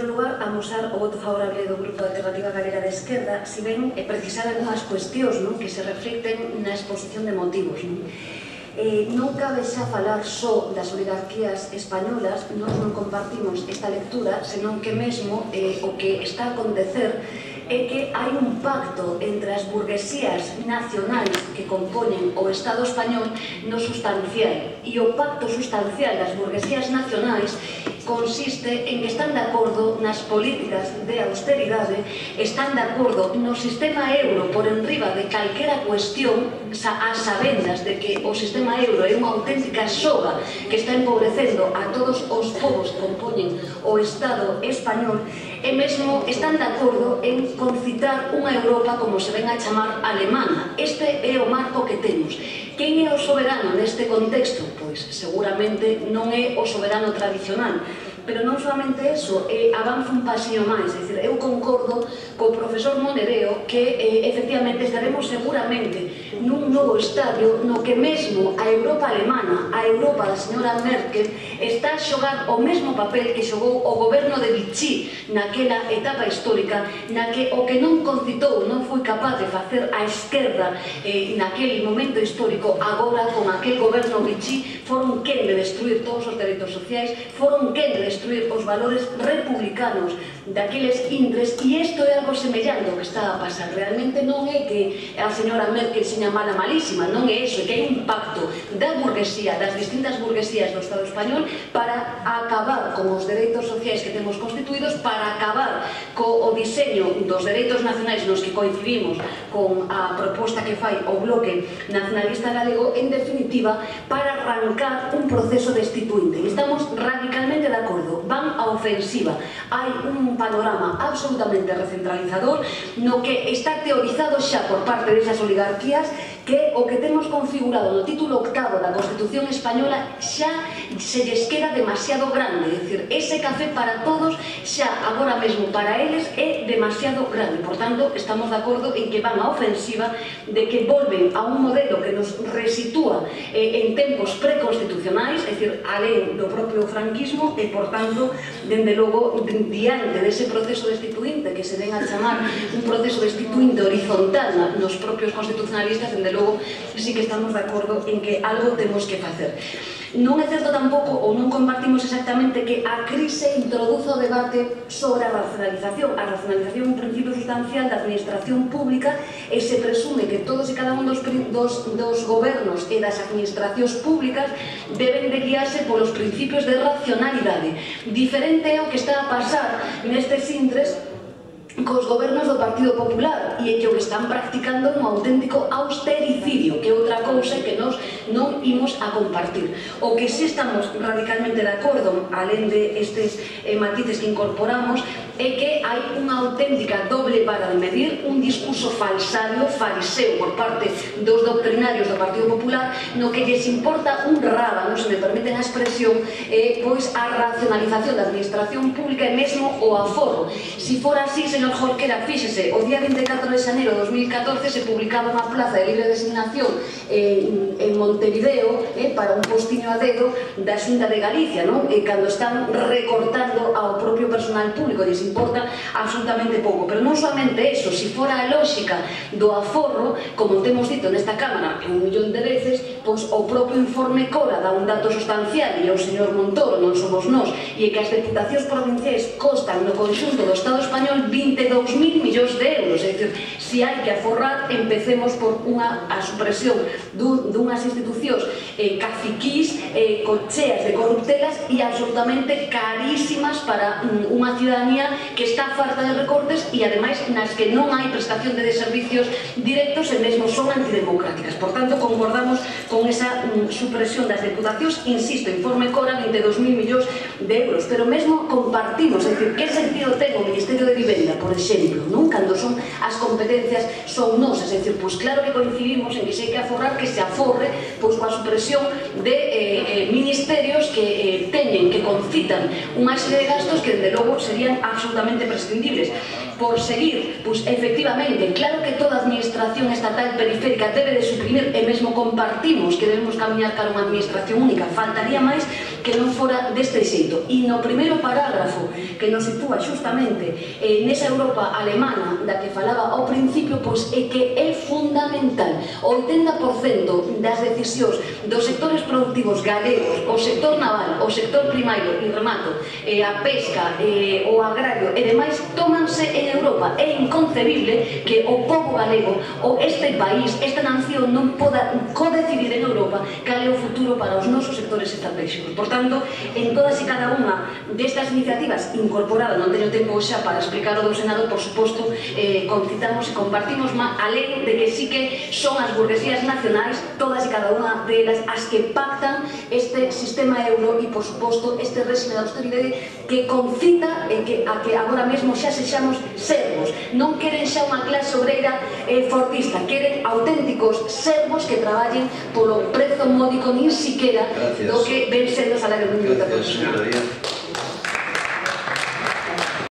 primeiro lugar, amosar o voto favorable do Grupo Alternativa Galega de Esquerda, si ben precisar algunhas cuestións que se reflecten na exposición de motivos. Non cabe xa falar só das oligarquías españolas, nós non compartimos esta lectura, senón que mesmo o que está a acontecer é que hai un pacto entre as burguesías nacionais que compoñen o Estado español no sustancial, e o pacto sustancial das burguesías nacionais consiste en que están de acordo nas políticas de austeridade, están de acordo no sistema euro por enriba de calquera cuestión, a sabendas de que o sistema euro é unha auténtica soga que está empobrecendo a todos os povos que compoñen o Estado español, e mesmo están de acordo en concitar unha Europa como se ven a chamar alemana. Este é o marco que temos. Quen é o soberano neste contexto? Pois seguramente non é o soberano tradicional, pero non solamente eso, avanza un pasiño máis, é dicir, eu concordo co profesor Monereo que efectivamente estaremos seguramente nun novo estadio no que mesmo a Europa alemana, a Europa da señora Merkel, está a xogar o mesmo papel que xogou o goberno de Vichy naquela etapa histórica, na que o que non concitou, non foi capaz de facer a esquerda naquele momento histórico, agora con aquel goberno Vichy foron quen de destruir todos os dereitos sociais, foron quen de destruir os valores republicanos daqueles indres, e isto é algo semellante ao que está a pasar. Realmente non é que a señora Merkel seña mala malísima, non é iso, é que hai un pacto da burguesía, das distintas burguesías do Estado español para acabar con os dereitos sociais que temos constituídos, para acabar co diseño dos dereitos nacionais nos que coincidimos con a proposta que fai o bloque nacionalista galego, en definitiva, para arrancar un proceso destituinte. Estamos radicalmente de acordo, van a ofensiva. Hai un panorama absolutamente recentralizador no que está teorizado xa por parte desas oligarquías que o que temos configurado no título 8º da Constitución Española xa se lles queda demasiado grande, é dicir, ese café para todos xa agora mesmo para eles é demasiado grande. Por tanto, estamos de acordo en que van a ofensiva, de que volven a un modelo que nos resitúa en tempos preconstitucionais, é dicir, alén do propio franquismo, e por tanto, dende logo, diante dese proceso destituinte que se ven a chamar un proceso destituinte horizontal nos propios constitucionalistas, dende logo, sí que estamos de acordo en que algo temos que facer. Non é certo tampouco, ou non compartimos exactamente, que a crise introduza o debate sobre a racionalización. A racionalización é un principio sustancial da administración pública e se presume que todos e cada un dos gobernos e das administracións públicas deben de guiarse polos principios de racionalidade. Diferente é o que está a pasar nestes intres cos gobernos do Partido Popular, e é que o que están practicando un auténtico austericidio, que é outra cousa que nós non imos a compartir. O que sí estamos radicalmente de acordo, alén de estes matices que incorporamos, é que hai unha auténtica doble vara de medir, un discurso falsario, fariseo por parte dos doctrinarios do Partido Popular, no que lles importa un rábano, se me permiten a expresión, pois a racionalización da administración pública e mesmo o aforro. Si fora así, señor Jorquera, fíxese, o día 24 de xaneiro de 2014 se publicaba unha plaza de libre designación en Montevideo para un postiño a dedo da Xunta de Galicia, cando están recortando ao propio personal público, lles importa absolutamente pouco. Pero non solamente eso, se fora a lógica do aforro, como temos dito nesta Cámara un millón de veces, pois o propio informe COLA dá un dato sustancial, e o señor Montoro, non somos nós, e que as deputacións provinciais costan no conxunto do Estado español 22.000 millóns de euros. É dicir, se hai que aforrar, empecemos por a supresión dunhas institucións caciquís, cheas de corruptelas e absolutamente carísimas para unha ciudadanía que está farta de recortes e ademais nas que non hai prestación de servicios directos e mesmo son antidemocráticas. Por tanto, concordamos con esa supresión das deputacións, insisto, informe CORA, 22.000 millóns de euros, pero mesmo compartimos, é dicir, que sentido ten o Ministerio de Vivenda, por exemplo, cando son as competencias son nosas, é dicir, pois claro que coincidimos en que se hai que aforrar, que se aforre pois coa supresión de ministerios que teñen, que concitan unha serie de gastos que, dende logo, serían absolutamente prescindibles. Por seguir, pois efectivamente, claro que toda administración estatal periférica debe de suprimir, e mesmo compartimos que debemos camiñar cara a unha administración única, faltaría máis, que non fora deste xeito. E no primeiro parágrafo que nos sitúa xustamente nesa Europa alemana da que falaba ao principio, pois é que é fundamental o 80% das decisións dos sectores productivos galegos, o sector naval, o sector primario e remato, a pesca, o agrario e demais, tómanse en Europa. É inconcebible que o povo galego, ou este país, esta nación non poda codecidir en Europa cal é o futuro para os nosos sectores estratégicos. Por tanto, en todas e cada unha destas iniciativas incorporadas, non teño tempo xa para explicar o do Senado, por suposto, concitamos e compartimos, alén de que sí que son as burguesías nacionais, todas e cada unha delas, as que pactan este sistema euro e, por suposto, este réxime de austeridade que concita a que agora mesmo xa sexamos servos. Non queren xa unha clase obreira fortista, queren auténticos servos que traballen polo prezo módico nin siquera do que ven sendo o salario mínimo interprofesional.